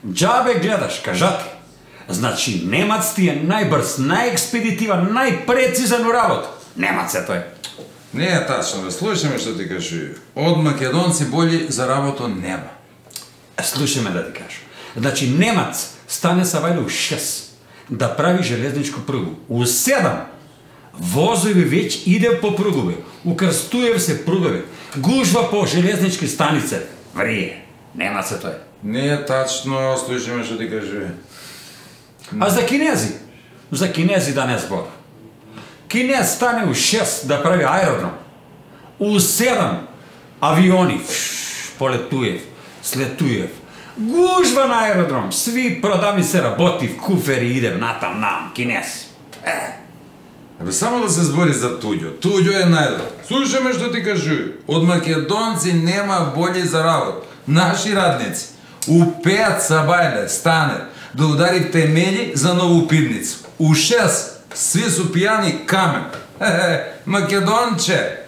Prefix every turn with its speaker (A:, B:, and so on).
A: Џабе гледаш, кажати. Значи, немац ти е најбрз, најекспедитиван, најпрецизен у работа. Немац е тој.
B: Не е тачно, бе, слушаме што ти кажи. Од македонци боли за работа нема.
A: Слушай ме да ти кажу. Значи, немац стане са вајде у 6 да прави железничку пругу. У 7 возови веќе иде по пругови. У Крстуев се пругови. Гужва по железнички станице. Врие. Немац е тој.
B: Не е тачно, слушаме што ти кажи.
A: А за кинези? За кинези да не збор. Кинез стане у 6 да прави аеродром. У 7 авиони. Полетуев, слетуев. Гужва на аеродром. Сви продавни се работи, в куфери идем натам нам. Кинез.
B: Абе, само да се збори за туѓо. Туѓо е најдобро. Слушаме што ти кажи. Од македонци нема боли за работа. Наши радници у 5 сабајле стане да удари темели за нову пивница. У 6 сви су пијани камен. Македонче.